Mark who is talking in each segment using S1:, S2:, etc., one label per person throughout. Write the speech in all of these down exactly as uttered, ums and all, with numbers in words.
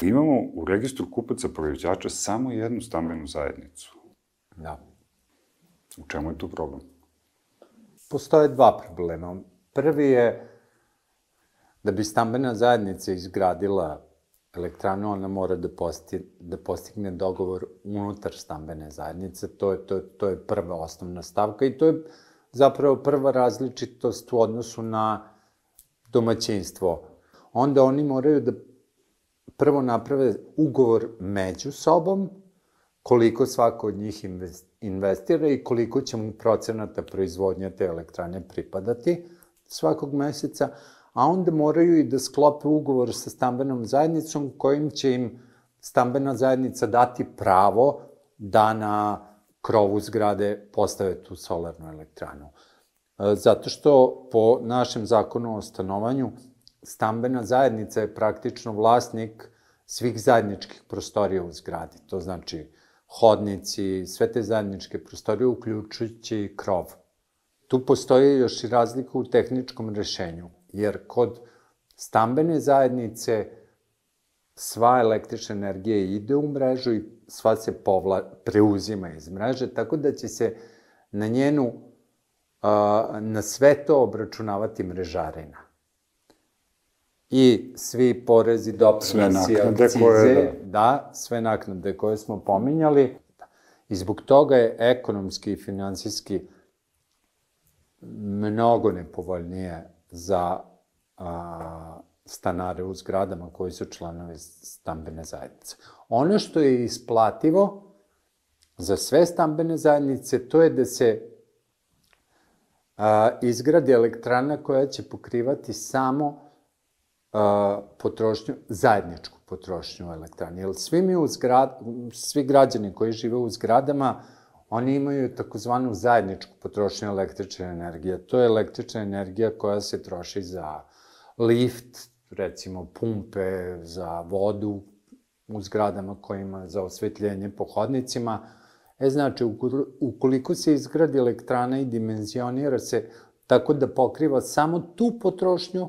S1: Imamo u registru kupaca proizvođača samo jednu stambenu zajednicu.
S2: Da.
S1: U čemu je tu problem?
S2: Postoje dva problema. Prvi je da bi stambena zajednica izgradila elektranu, ona mora da, posti, da postigne dogovor unutar stambene zajednice. To je, to, to je prva osnovna stavka i to je zapravo prva različitost u odnosu na domaćinstvo. Onda oni moraju da prvo naprave ugovor među sobom, koliko svako od njih investira i koliko će mu procenata proizvodnja te elektrane pripadati svakog meseca, a onda moraju i da sklope ugovor sa stambenom zajednicom kojim će im stambena zajednica dati pravo da na krovu zgrade postave tu solarnu elektranu. Zato što po našem zakonu o stanovanju stambena zajednica je praktično vlasnik svih zajedničkih prostorija u zgradi. To znači hodnici, sve te zajedničke prostorije, uključujući krov. Tu postoji još i razlika u tehničkom rešenju, jer kod stambene zajednice sva električna energija ide u mrežu i sva se povla, preuzima iz mreže, tako da će se na njenu, na sve to obračunavati mrežarina. I svi porezi, doprinosi, akcize, da, sve naknade koje smo pominjali. I zbog toga je ekonomski i finansijski mnogo nepovoljnije za stanare u zgradama koji su članovi stambene zajednice. Ono što je isplativo za sve stambene zajednice, to je da se izgradi elektrana koja će pokrivati samo potrošnju, zajedničku potrošnju elektrane. Jer svi mi u zgrad, svi građani koji žive u zgradama, oni imaju takozvanu zajedničku potrošnju električne energije. To je električna energija koja se troši za lift, recimo pumpe, za vodu u zgradama kojima za osvetljenje po hodnicima. E, znači, ukoliko se izgradi elektrana i dimenzionira se tako da pokriva samo tu potrošnju,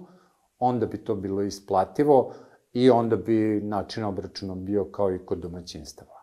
S2: onda bi to bilo isplativo i onda bi način obračuna bio kao i kod domaćinstava.